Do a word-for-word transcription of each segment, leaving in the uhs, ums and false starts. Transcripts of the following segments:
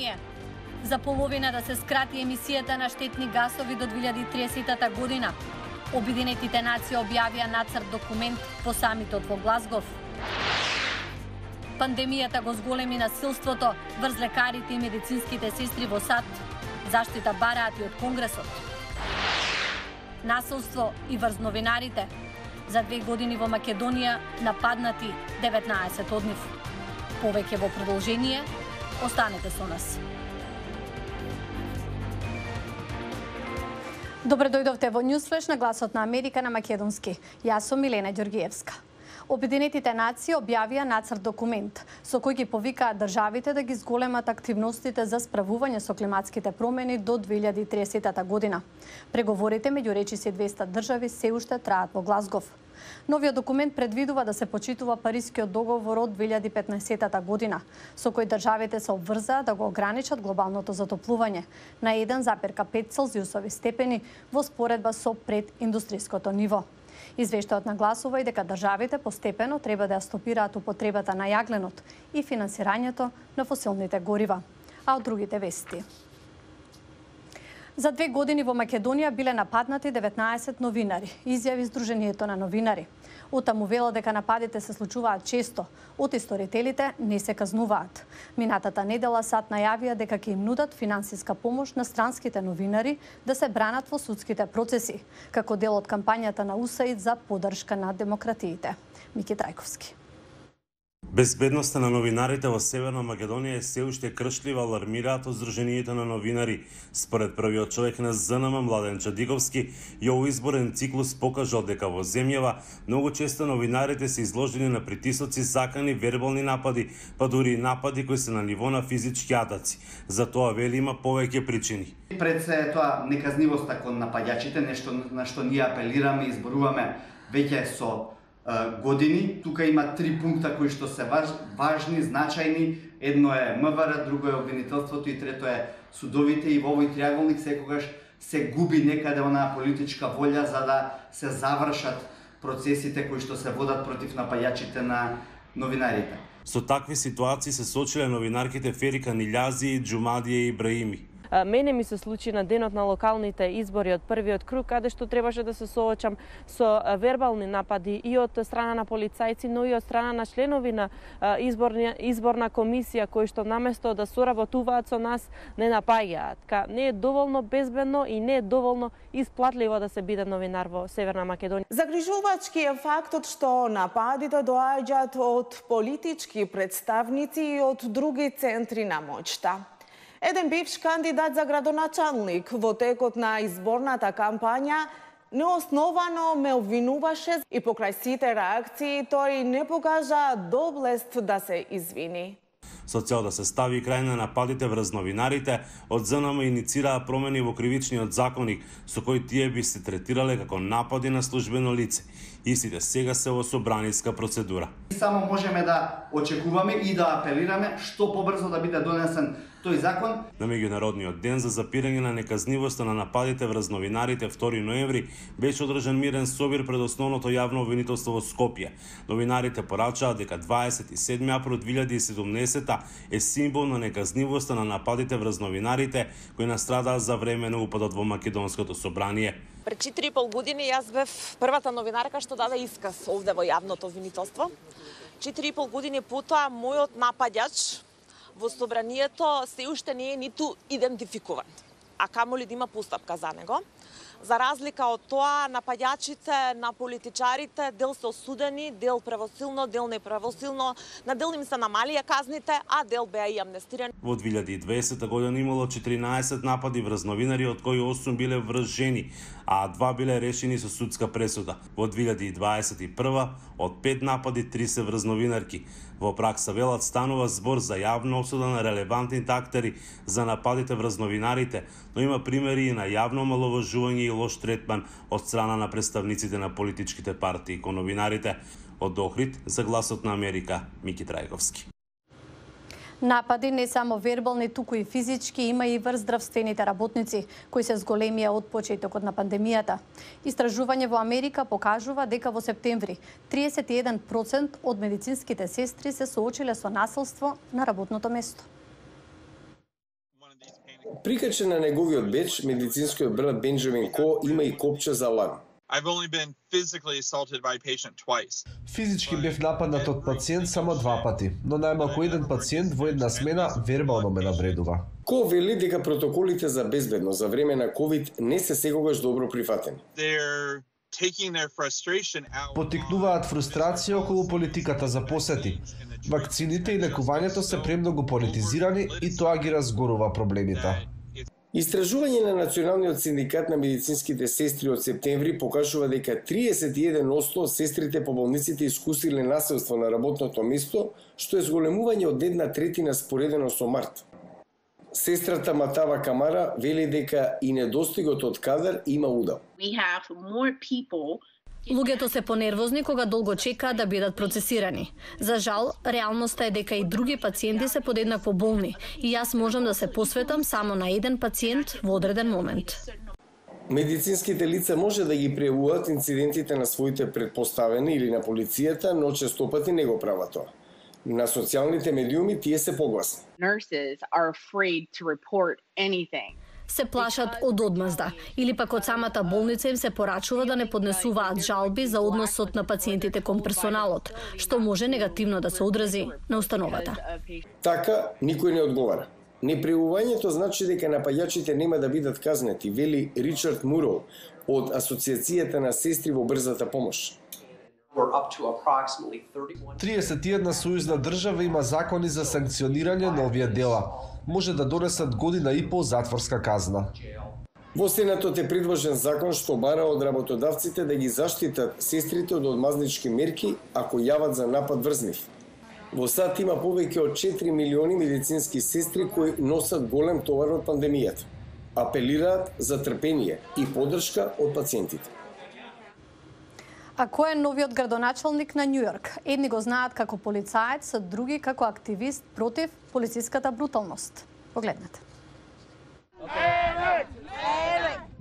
собрание. За половина да се скрати емисијата на штетни гасови до две илјади и триесета година. Обединетите нации објавија нацрт документ по самитот во Глазгов. Пандемијата го зголеми насилството врз лекарите и медицинските сестри во САД. Заштита бараат и од Конгресот. Насилство и врз новинарите. За две години во Македонија нападнати деветнаесет од нив. Повеќе во продолжение, останете со нас. Добре дојдовте во Ньюсфлеш на Гласот на Америка на македонски. Јас сум Милена Ѓоргиевска. Обединетите нации објавија нацрт документ со кој ги повикаат државите да ги зголемат активностите за справување со климатските промени до две илјади и триесета година. Преговорите меѓу речиси двеста држави се уште траат во Глазгов. Новиот документ предвидува да се почитува Парискиот договор од две илјади и петнаесета година, со кој државите се обврзаа да го ограничат глобалното затоплување на еден запир пет целзиусови степени во споредба со прединдустријското ниво. Извештајот нагласува и дека државите постепено треба да ја стопираат употребата на јагленот и финансирањето на фосилните горива. А од другите вести. За две години во Македонија биле нападнати деветнаесет новинари, изјави Сдруженијето на новинари. Утаму вела дека нападите се случуваат често, од исторителите не се казнуваат. Минатата недела САД најавија дека ќе им нудат финансиска помош на странските новинари да се бранат во судските процеси, како дел од кампањата на УСАИД за поддршка на демократиите. Мики Трајковски. Безбедноста на новинарите во Северна Македонија е се уште кршлива, алармираат од Сдруженијето на новинари. Според првиот човек на ЗНМ Младен Чадиковски, и овој изборен циклус покажал дека во земјава многу често новинарите се изложени на притисоци, закани, вербални напади, па дури и напади кои се на ниво на физички атаци. За тоа вели има повеќе причини. Пред се тоа неказнивоста кон нападјачите, нешто на што ние апелираме и изборуваме веќе со години. Тука има три пункта кои што се важ, важни, значајни. Едно е МВР, друго е обвинителството и трето е судовите, и во овој триаголник секогаш се губи некаде онаа политичка волја за да се завршат процесите кои што се водат против напаѓачите на новинарите. Со такви ситуации се соочиле новинарките Ферика Нилјази и Џумадија Ибраими. Мене ми се случи на денот на локалните избори од првиот круг, каде што требаше да се соочам со вербални напади и од страна на полицајци, но и од страна на членови на изборна, изборна комисија, кои што наместо да соработуваат со нас, не напаѓаат. Не е доволно безбедно и не е доволно исплатливо да се биде новинар во Северна Македонија. Загрижувачки е фактот што нападите доаѓаат од политички представници и од други центри на моќта. Еден бивш кандидат за градоначалник во текот на изборната кампања неосновано ме обвинуваше и покрај сите реакции тој не покажа доблест да се извини. Со цел да се стави крај на нападите врз новинарите, од ЗНМ иницираа промени во кривичниот законник, со кој тие би се третирале како напади на службено лице. Истите сега се во собраниска процедура. Само можеме да очекуваме и да апелираме што побрзо да биде донесен тој закон. На меѓународниот ден за запирање на неказнивоста на нападите врз новинарите втори ноември беше одржан мирен собир пред основното јавно обвинителство во Скопје. Новинарите порачаат дека дваесет и седми април две илјади и седумнаесета е символ на неказнивоста на нападите врз новинарите кои настрадаа за време на упадот во Македонското собрание. Пред четири и пол години јас бев првата новинарка што даде исказ овде во јавното обвинителство. четири и пол години потоа мојот напаѓач во собранието се уште не е ниту идентификуван, а камоли да има постапка за него. За разлика од тоа, напаѓачите на политичарите дел се осудени, дел правосилно, дел неправосилно, на дел им се намалија казните, а дел беа и амнестирани. Во две илјади и дваесета година имало четиринаесет напади врз новинари, од кои осум биле врз жени, а два биле решени со судска пресуда. Во две илјади и дваесет и прва од пет напади три се врз новинарки. Во пракса велат станува збор за јавна осуда на релевантните актери за нападите врз новинарите, но има примери и на јавно омаловажување и лош третман од страна на представниците на политичките партии кон новинарите. Од Охрид за Гласот на Америка, Мики Трајковски. Напади не само вербални, туку и физички има и врз здравствените работници, кои се зголемија од почетокот на пандемијата. Истражување во Америка покажува дека во септември триесет и еден проценти од медицинските сестри се соочиле со насилство на работното место. Прикачен на неговиот беч, медицинскиот брат Бенджамин Ко има и копче за лаг. I've only been physically assaulted by a patient twice. Физички бев нападнат од пациент само два пати, но најмалку еден пациент во една смена вербално ме навредува. Ко вели дека протоколите за безбедност за време на ковид не се секогаш добро прифатени. They're taking their frustration out. Потикнуваат фрустрација околу политиката за посети. Вакцините и лекувањето се премногу политизирани и тоа ги разгорува проблемите. Истражување на Националниот синдикат на медицинските сестри од септември покажува дека триесет и еден одсто од сестрите по болниците искусиле насилство на работното место, што е зголемување од една третина споредено со март. Сестрата Матава Камара вели дека и недостигот од кадар има удел. Луѓето се понервозни кога долго чекаат да бидат процесирани. За жал, реалноста е дека и други пациенти се подеднакво болни и јас можам да се посветам само на еден пациент во одреден момент. Медицинските лица може да ги пријавуваат инцидентите на своите предпоставени или на полицијата, но честопати не го прават тоа. На социјалните медиуми тие се погласни. Се плашат од одмазда или пак од самата болница им се порачува да не поднесуваат жалби за односот на пациентите кон персоналот, што може негативно да се одрази на установата. Така, никој не одговара. Непријавувањето значи дека напаѓачите нема да бидат казнети, вели Ричард Мурол од Асоциацијата на сестри во брзата помош. триесет и една сојузна држава има закони за санкционирање на овие дела. Може да донесат година и пол затворска казна. Во Сенатот е предложен закон што бара од работодавците да ги заштитат сестрите од одмазнички мерки ако јават за напад врз нив. Во САД има повеќе од четири милиони медицински сестри кои носат голем товар од пандемијата. Апелираат за трпение и поддршка од пациентите. А кој е новиот градоначалник на Њујорк? Едни го знаат како полицаец, а други како активист против полициската бруталност. Погледнете.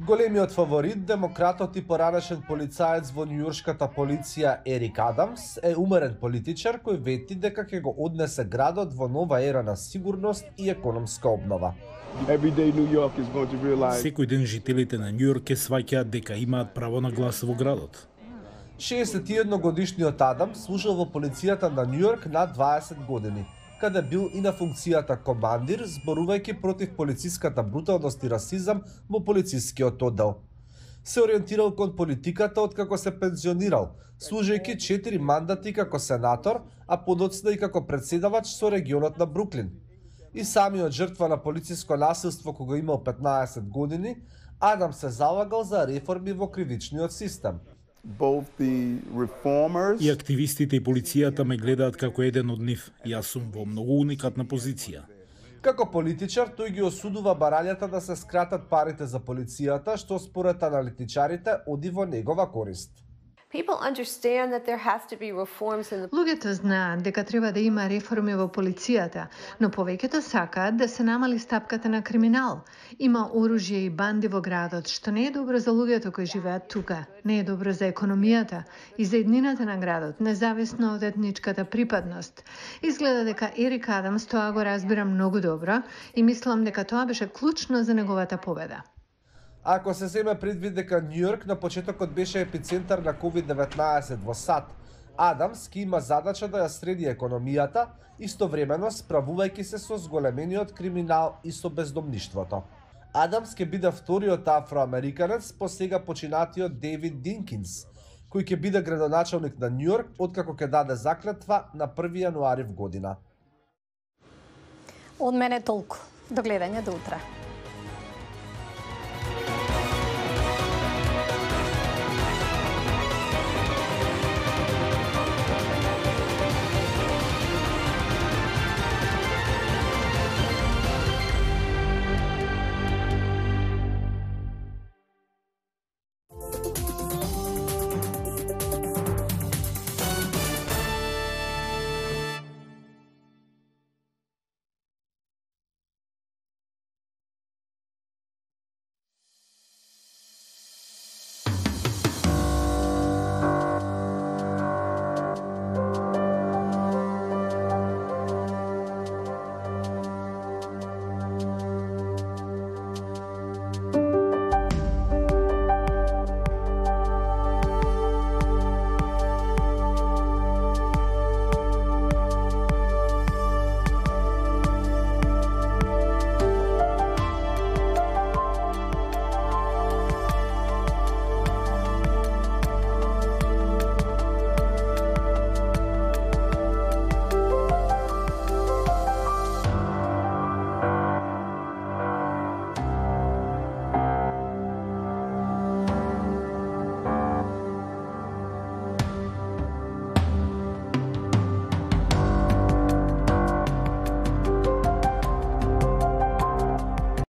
Големиот фаворит, демократот и поранешен полицаец во њујоршката полиција Ерик Адамс е умерен политичар кој вети дека ќе го однесе градот во нова ера на сигурност и економска обнова. Секој ден жителите на Њујорк ќе сваќаат дека имаат право на глас во градот. шеесет и едно годишниот Адам служел во полицијата на Њујорк на дваесет години, каде бил и на функцијата командир, зборувајќи против полициската бруталност и расизам во полицискиот оддел. Се ориентирал кон политиката откако се пензионирал, служејќи четири мандати како сенатор, а подоцна и како председавач со регионот на Бруклин. И самиот жртва на полициско насилство кога имал петнаесет години, Адам се залагал за реформи во кривичниот систем. И активистите и полицијата ме гледаат како еден од нив. Јас сум во многу уникатна позиција. Како политичар, тој ги осудува барањата да се скратат парите за полицијата, што според аналитичарите оди во негова корист. Луѓето знаат дека треба да има реформи во полицијата, но повеќето сакаат да се намали стапката на криминал. Има оружје и банди во градот, што не е добро за луѓето кои живеат тука, не е добро за економијата и за еднината на градот, независно од етничката припадност. Изгледа дека Ерик Адамс тоа го разбира многу добро и мислам дека тоа беше клучно за неговата победа. Ако се земе предвид дека Њујорк на почетокот беше епицентар на ковид деветнаесет во САД, Адамс ки има задача да ја среди економијата, истовремено справувајќи се со зголемениот криминал и со бездомништвото. Адамс ќе биде вториот афроамериканец по сега починатиот Дейвид Динкинс, кој ќе биде градоначалник на Њујорк откако ќе даде заклетва на први јануари в година. Од мене толку. До гледање до утре.